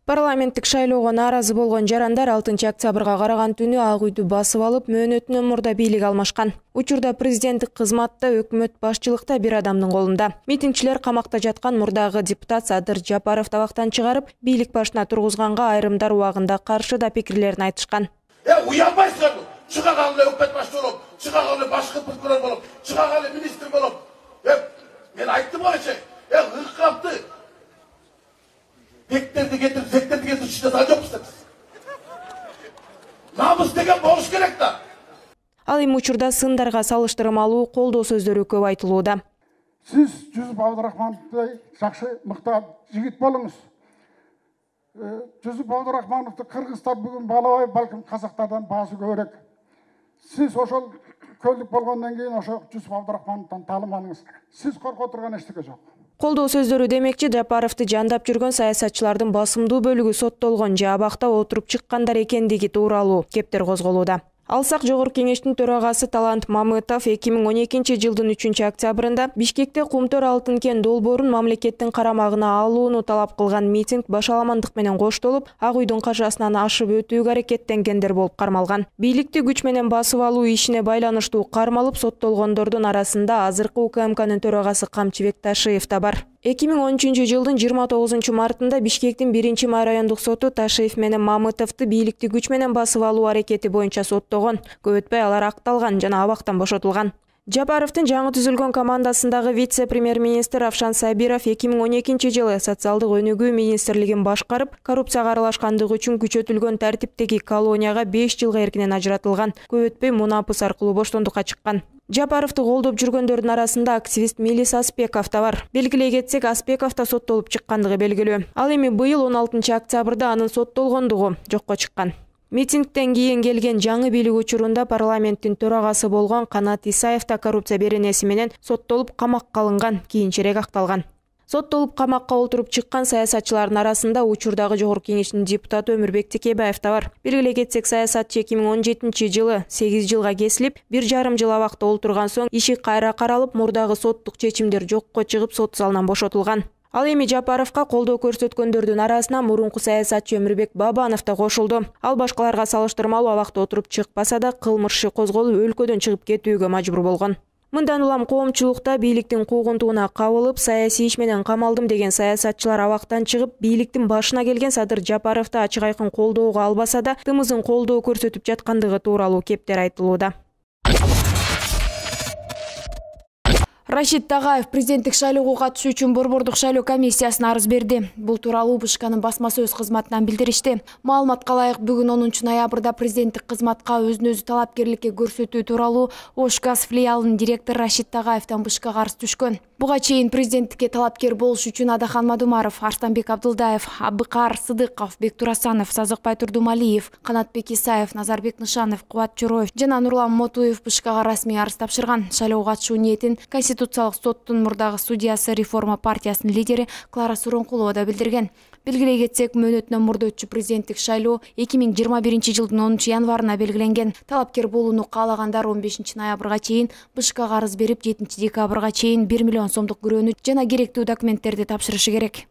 Парламенттик шайлоого нааразы болгон жарандар 6-октябрга караган түнү Ак үйдү басып алып, мөөнөтүнөн мурда бийлик алмашкан. Учурда президенттик кызматта, өкмөт башчылыкта бир адамдын колунда. Митингчилер камакта жаткан мурдагы депутат Садыр Жапаров табактан чыгарып, бийлик башына тургузганга айрымдар убагында каршы да пикирлерин айтышкан. Уянбайсыңарбы? Чыга калган өкмөт башчысы болуп, чыга калган башкы прокурор болуп, чыга калган министр болуп. Мен айттым ойчу, ыккапты. Бектерди кетирип, зектерди кетирип чыгата жокпуз. Намыс деген болуш керек да. Ал эми учурда сындарга салыштырмалуу колдоо сөздөрү көп айтылууда. Сиз Жүсүп Абдурахмановдой жакшы мыкты жигит болуңуз. Жүсүп Абдурахмановду кыргыздар бүгүн балабай, балким казактардан баасы көбүрөөк. Сиз ошол көлдүк болгондон кийин ошо Жүсүп Абдурахмановдон таалим алыңыз. Сиз коркоо турган эчтеке жок. Колдоо сөздөрү демекчи, Жапаровду жандап жүргөн саясатчылардын басымдуу бөлүгү соттолгон же абакта отуруп чыккандар экендиги тууралуу кептер козголууда. Алсак, Жогорку Кеңештин төрагасы Талант Мамытов 2012-жылдын 3-октябрында Бишкекте Кумтөр алтын кен долбоорун мамлекеттин карамагына алууну талап кылган митинг башаламандык менен коштолуп, Ак үйдүн каршысынан ашып өтүүгө аракеттенгендер болуп кармалган. Бийликти күч менен басып алуу ишине байланыштуу кармалып соттолгондордун арасында азыркы УКМКнын төрагасы Камчыбек Ташиев да бар. 2013-жылдын 29 мартында Бишкектин 1 райондук соту Ташиев менен Мамытовду бийликти күч менен басып алуу аракети боюнча соттогон. Көп өтпөй алар акталган жана абактан бошотулган. Жапаровдун жаңы түзүлгөн командасындагы вице-премьер-министр Равшан Сабиров 2012-жылы социалдык өнүгүү министрлигин башкарып, коррупцияга аралашкандыгы үчүн күчөтүлгөн тартиптеги колонияга 5 жылга эркинен ажыратылган. Көп өтпөй мунапыс аркылуу боштондукка чыккан. Жапаровду колдоп жүргөндөрдүн арасында активист Милис Аспеков да бар. Белгилей кетсек, Аспеков да соттолуп чыккандыгы белгилүү. Ал эми быйыл 16-октябрда анын соттолгондугу жокко чыккан. Митингден кийин келген жаңы бийлик учурунда парламенттин төрагасы болгон Канат Исаев да коррупция беренеси менен соттолуп камакка алынган, кийинчерээк акталган. Соттолуп камакка олтуруп чыккан саясатчылардын арасында учурдагы Жогорку Кеңештин депутаты Өмүрбек Текебаев да бар. Белгилей кетсек, саясатчы 2017-жылы 8 жылга кесилип, 1,5 жыл абакта олтурган соң иши кайра каралып, мурдагы соттук чечимдер жокко чыгып, сот залынан бошотулган. Ал эми Жапаровго колдоо көрсөткөндөрдүн арасына мурунку саясатчы Өмүрбек Бабанов да кошулду. Ал башкаларга салыштырмалуу абакта отуруп чыкпаса да, кылмыш иши козголуп, өлкөдөн чыгып кетүүгө мажбур болгон. Мындан улам коомчулукта бийликтин куугунтугуна кабылып, саясий иш менен камалдым деген саясатчылар абактан чыгып, бийликтин башына келген Садыр Жапаровду ачык айкын колдоого албаса да, тымызын колдоо көрсөтүп жаткандыгы тууралуу кептер айтылууда. Рашид Тагаев президенттик шайлоого катышуу үчүн Борбордук шайлоо комиссиясына арыз берди. Бул тууралуу БШКнын басма сөз кызматынан билдиришти. Маалыматка ылайык, бүгүн 10 ноябрда президенттик кызматка өзүн-өзү талапкерликке көрсөтүү тууралуу Ош газ филиалынын директору Рашид Тагаевден БШКга арыз түшкөн. Буга чейин президенттикке талапкер болуш үчүн Адахан Мадумаров, Арстанбек Абдылдаев, Абыкар Сыдыков, Бектурасанов, Сазыкбай Турдумалиев, Канатбек Исаев, Назарбек Нышанов, Кубат Чороев жана Нурлан Мотуев БШКга расмий арыз тапшырган. Шайлоого катышуу ниетин Конституциялык соттун мурдагы судьясы Реформа партиясынын лидери Клара Суронкулова да билдирген. Белгилей кетсек, мөөнөтүнөн мурда өтчү президенттик шайлоо 2021-жылдын 10 январына белгиленген. Талапкер болууну каалагандар 15 ноябрга чейин БШКга арыз берип, 7 декабрга чейин 1 миллион сомдук күрөөнү жана керектүү документтерди тапшырышы керек.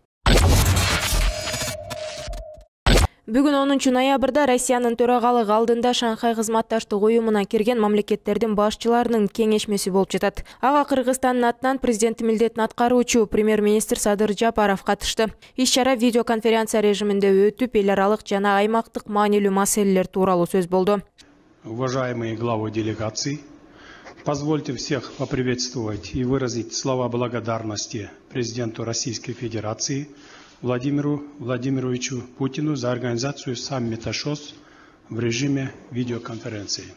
Бүгүн 10 ноябрда Россиянын төрагалыгы алдында Шанхай кызматташтык уюмуна кирген мамлекеттердин башчыларынын кеңешмеси болуп жатат. Ага Кыргызстандын атынан президент милдетин аткаруучу премьер-министр Садыр Жапаров катышты. Иш-чара видеоконференция режиминде өтүп, эл аралык жана аймактык маанилүү маселелер тууралуу сөз болду. Уважаемые главы делегаций, позвольте всех поприветствовать и выразить слова благодарности президенту Российской Федерации Владимиру Владимировичу Путину за организацию саммита ШОС в режиме видеоконференции.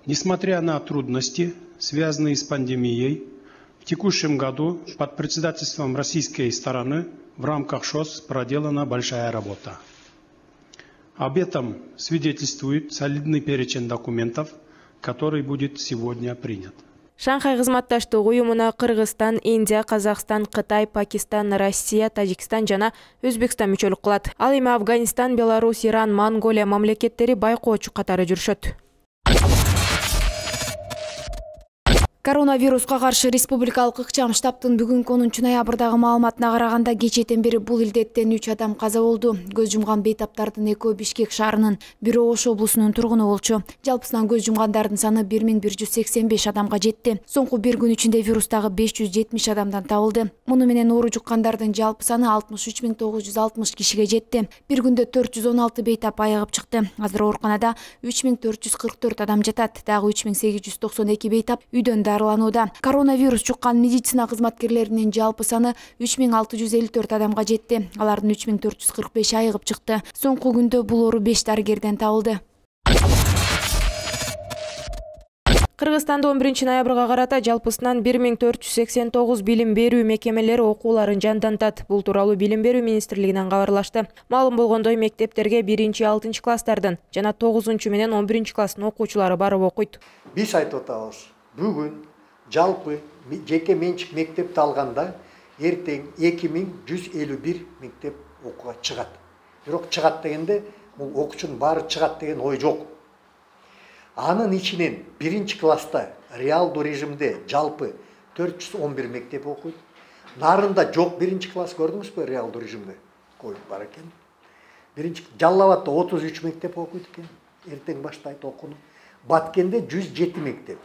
Несмотря на трудности, связанные с пандемией, в текущем году под председательством российской стороны в рамках ШОС проделана большая работа. Об этом свидетельствует солидный перечень документов, который будет сегодня принят. Шанхай кызматташтык уюмуна Кыргызстан, Индия, Казакстан, Кытай, Пакистан, Россия, Тажикстан жана Өзбекстан мүчөлүк кылат. Ал эми Афганистан, Беларусь, Иран, Монголия мамлекеттери байкоочу катары жүрүшөт. Коронавируска каршы республикалык ыкчам штабтын бүгүнкү 10 ноябрдагы маалыматына караганда кечээден бери бул илдеттен 3 адам каза болду. Көз жумган бейтаптардын экөө Бишкек шаарынын, бири Ош облусунун тургуну болчу. Жалпысынан көз жумгандардын саны 1185 адамга жетти. Соңку бир күн ичинде вирустагы 570 адамдан табылды. Муну менен оору жуккандардын жалпы саны 63960 кишиге жетти. Бир күндө 416 бейтап айыгып чыкты. Азыр ооруканада 3444 адам жатат. Дагы 3892 бейтап үйдөн дарыланууда. Коронавирус жуккан медицина кызматкерлеринин жалпы саны 3654 адамга жетти. Алардын 3445 айыгып чыкты. Соңку күндө бул оору 5 дарыгерден табылды. Кыргызстанда 11 ноябрга карата жалпысынан 1489 билим берүү мекемелери окууларын жандантат. Бул тууралуу Билим берүү министрлигинен кабарлашты. Маалым болгондой, мектептерге 1-6 класстардын жана 9 менен 11 класстын окуучулары барып окуйт. Биз айтып атабыз. Бүгүн жалпы жеке менчик мектепти алганда эртең 2151 мектеп окууга чыгат. Бирок чыгат дегенде бул окуучунун баары чыгат деген ой жок. Анын ичинен 1 класста реалдуу режимде жалпы 411 мектеп окуйт. Нарында жок 1 класс көрдүңүзбү реалдуу режимде? Коюп бар экен. Жалал Абадта 33 мектеп окуйт экен. Эртең баштайт окууну. Баткенде 107 мектеп.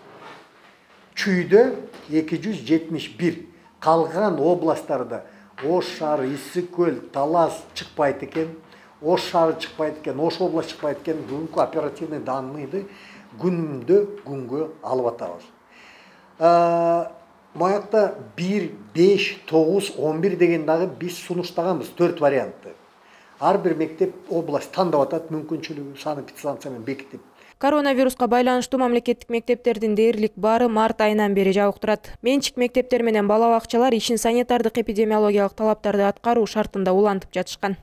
Чүйдө 271. Калган областтарда Ош шаары, Исик көл, Талас чыкпайт экен. Ош шаары чыкпайт экен, Ош областы чыкпайт экен. Бүгүнкү оперативный данныйды күнгө алып атабыз. Моякта 1, 5, 9, 11 деген дагы биз сунуштаганбыз 4 вариантты. Ар бир мектеп область тандап атат, мүмкүнчүлүгү санэпидстанция менен бекитип. Коронавируска байланыштуу мамлекеттик мектептердин дээрлик баары март айынан бери жабык турат. Менчик мектептер менен бала бакчалар ишин санитардык эпидемиологиялык талаптарды аткаруу шартында улантып жатышкан.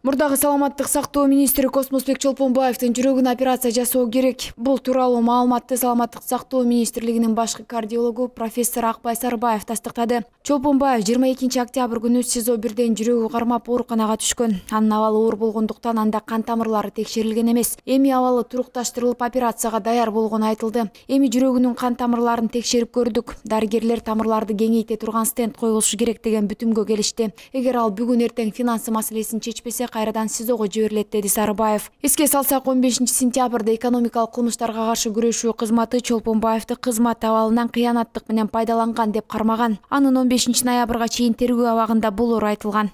Мурдагы саламаттык сактоо министри Космосбек Чолпонбаевдин жүрөгүнө операция жасоо керек. Бул тууралуу маалыматты саламаттык сактоо министрлигинин башкы кардиологу профессор Акбай Сарбаев тастыктады. Чолпонбаев 22 октябрь күнү СИЗО 1ден жүрөгү кармап ооруканага түшкөн. Анын абалы оор болгондуктан анда кан тамырлары текшерилген эмес. Эми абалы турукташтырылып операцияга даяр болгону айтылды. Эми жүрөгүнүн кан тамырларын текшерип көрдүк. Дарыгерлер тамырларды кеңейте турган стенд коюлушу керек деген бүтүмгө келишти. Эгер ал бүгүн эртең финансы маселесин чечпесе, кайрадан СИЗОго жиберилет, деди Сарбаев. Эске салсак, 15 сентябрда экономикалык кылмыштарга каршы күрөшүү кызматы Чолпонбаевди кызмат абалынан кыянаттык менен пайдаланган деп кармаган. Анын 15 ноябрга чейин тергөө абагында болору айтылган.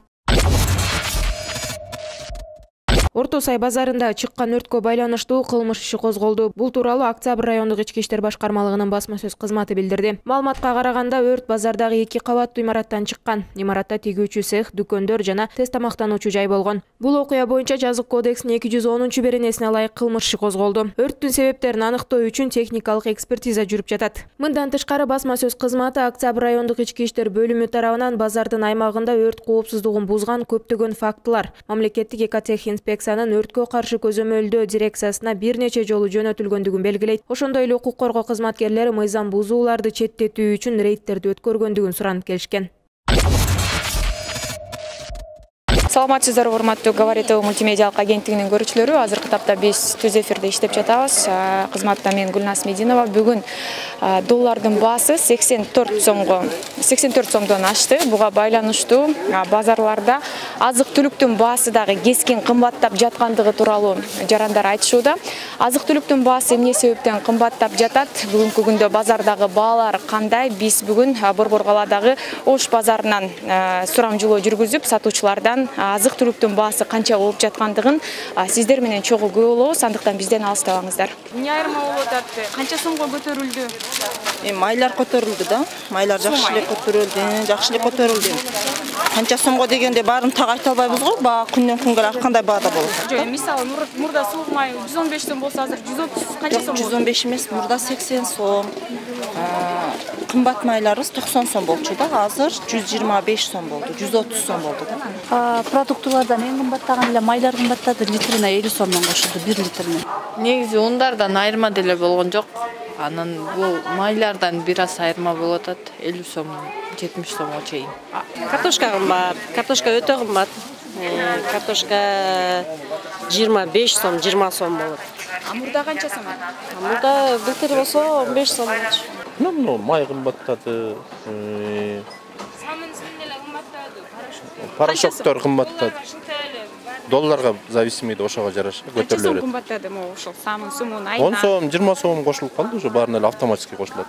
Орто Сай базарында чыккан өрткө байланыштуу кылмыш иши козголду. Бул тууралуу Октябрь райондук ички иштер башкармалыгынын басма сөз кызматы билдирди. Маалыматка караганда өрт базардагы 2 кабаттуу имараттан чыккан. Имаратта тигүүчү цех, дүкөндөр жана тест тамактануучу жай болгон. Бул окуя боюнча жазык кодекстин 210-беренесине ылайык кылмыш иши козголду. Өрттүн себептерин аныктоо үчүн техникалык экспертиза жүрүп жатат. Мындан тышкары басма сөз кызматы Октябрь райондук ички иштер бөлүмү тарабынан базардын аймагында өрт коопсуздугун бузган көптөгөн фактылар, мамлекеттик экотех инспекциянын өрткө каршы көзөмөлдөө дирекциясына бир нече жолу жөнөтүлгөндүгүн белгилейт. Ошондой эле укук коргоо кызматкерлери мыйзам бузууларды четтетүү үчүн рейдтерди өткөргөндүгүн суранып келишкен. Саламатсыздар, урматтуу Говоритова мультимедиалык агенттигинин көрүүчүлөрү. Азыркы тапта биз түз эфирде иштеп жатабыз. Кызматта мен Гүлназ Мединова. Бүгүн доллардын баасы 84 сомдон ашты. Буга байланыштуу базарларда азык-түлүктүн баасы дагы кескин кымбаттап жаткандыгы тууралуу жарандар айтышууда. Азык-түлүктүн баасы эмне себептен кымбаттап жатат? Бүгүнкү күндө базардагы баалар кандай? Биз бүгүн Борбор калаадагы Ош базарынан сурамжылоо жүргүзүп, сатуучулардан азык-түлүктүн баасы канча болуп жаткандыгын сиздер менен чогуу көрө алабыз. Андыктан бизден алыстабаңыздар. Эмне айырма болуп атат? Канча сомго көтөрүлдү? Майлар көтөрүлдү да. Майлар жакшы эле көтөрүлдү. Канча сомго дегенде баарын так айта албайбыз го. Баа күндөн күнгө ар кандай баада болот. Жок, мисалы мурда суук май 115 сом болсо, азыр 130 канча сом болот? 115 эмес, мурда 80 сом. Кымбат майларыбыз 90 сом болчу да, азыр 125 сом болду, 130 сом болду да. Продуктулардан эң кымбаттаган эле майлар кымбаттады, литрине 50 сомдон кошулду, 1 литрине. Негизи ундардан айырма деле болгон жок. Анан бул майлардан бир аз айырма болуп атат, 50 сом, 70 сомго чейин. Картошка кымбат, картошка өтө кымбат. Картошка 25 сом, 20 сом болот. Мурда канча сом? Мурда былтыр болсо 15 сом болчу. Ну, май кымбаттады. Самын үстүндө эле кымбаттады. Порошоктор кымбаттады. Долларга зависимый ошого жараша Канча сом көтөрүлөт. кымбаттады могу ошол самын сумун 10 сом, 20 сом кошулуп калды, уже баарына эле автоматически кошулат.